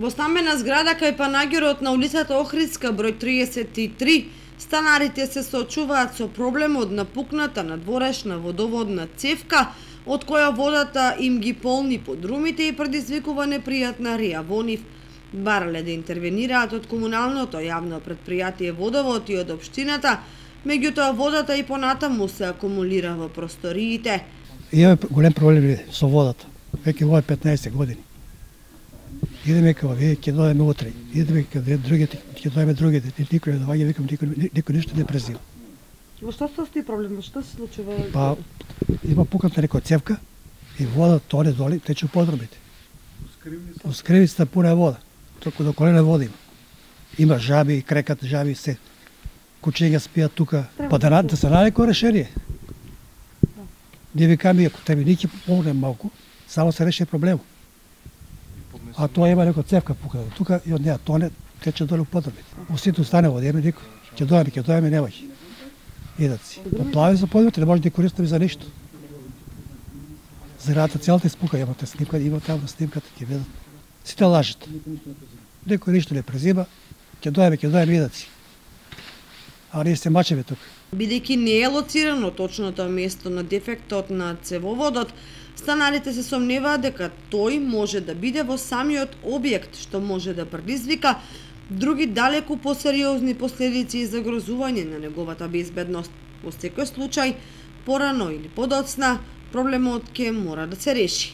Во стамбена зграда кај Панагјерот на улицата Охридска број 33, станарите се соочуваат со проблем од напукната надворешна водоводна цевка, од која водата им ги полни подрумите и предизвикува непријатна рија во нив. Барале да интервенираат од комуналното јавно претпријатие Водовод и од општината, меѓутоа водата и понатаму се акумулира во просториите. Имаме голем проблем со водата. Веќе во 15 години. Идеме кај овие, ќе дојдеме утре. Идеме кај другите, ќе дојдеме другите. Никој не доаѓа, викам, никој ништо не презива. Во што се состои проблемот? Што се случува? Па, има пукната некоја цевка и вода тоне доли, тече подрумите. У скривицата пуна вода. Толку до колена вода има. Има жаби, крекат жаби, се. Кучиња спијат тука. Па да се најде кој решение. Ние викаме, ако тебе ни ќе помогне малку, само се реши проблемот. А тоа има некоја цевка пукната. Тука и од неа тоне, тече долу подрумите. Усите стане вода, има никој. Ќе дојаме, немаќе. Идат си. Поплави за подрумите, не може да користаме за ништо. Зградата целата испука, имате снимка, има таму снимката, ќе видат. Сите лажат. Некој ништо не презима, ќе дојаме, идат си. А ние се мачеме тука. Бидејќи не е лоцирано точното место на дефектот на цевоводот, станарите се сомневаат дека тој може да биде во самиот објект, што може да предизвика други далеку посериозни последици и загрозување на неговата безбедност. Во секој случај, порано или подоцна, проблемот ќе мора да се реши.